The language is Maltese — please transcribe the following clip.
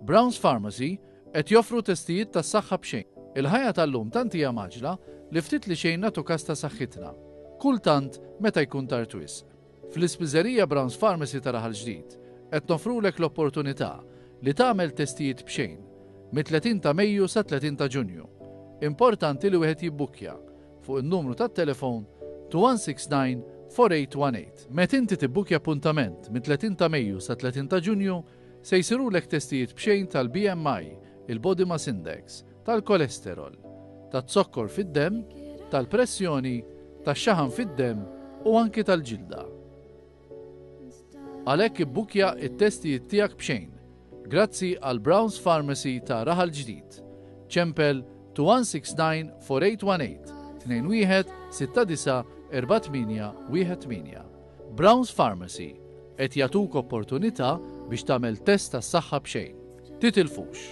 Brown's Pharmacy qed joffru testijiet tas-saħħa b'xejn. Il-ħajja tal-lum tant hija mgħaġġla li ftit li xejn nagħtu kas ta' saħħitna. Kultant meta jkun tard wisq. Fl-Ispiżerija Brown's Pharmacy ta' Raħal Ġdid qed noffrulek l-opportunità li tagħmel testijiet b'xejn mit-30 ta' Mejju sat-30 ta' Ġunju. Importanti li wieħed jibbukkja fuq in-numru tat-telefon 2169 4818. Met inti tibbukkja appuntament mit-30 ta' Mejju sat-30 ta' Ġunju se jsirulek testijiet b'xejn tal-BMI, il-Body Mass Index, tal-kolesterol, taz-zokkor fid-demm, tal-pressjoni, tax-xaħam fid-demm u anki tal-ġilda. Għalhekk ibbukkja t-testijiet tiegħek b'xejn. Grazzi għal Brown's Pharmacy ta' Raħal Ġdid. Ċempel 2169 4818 21 69 48 18. Brown's Pharmacy qed jagħtuk opportunità biex tagħmel test tas-saħħa b'xejn. Titilfux!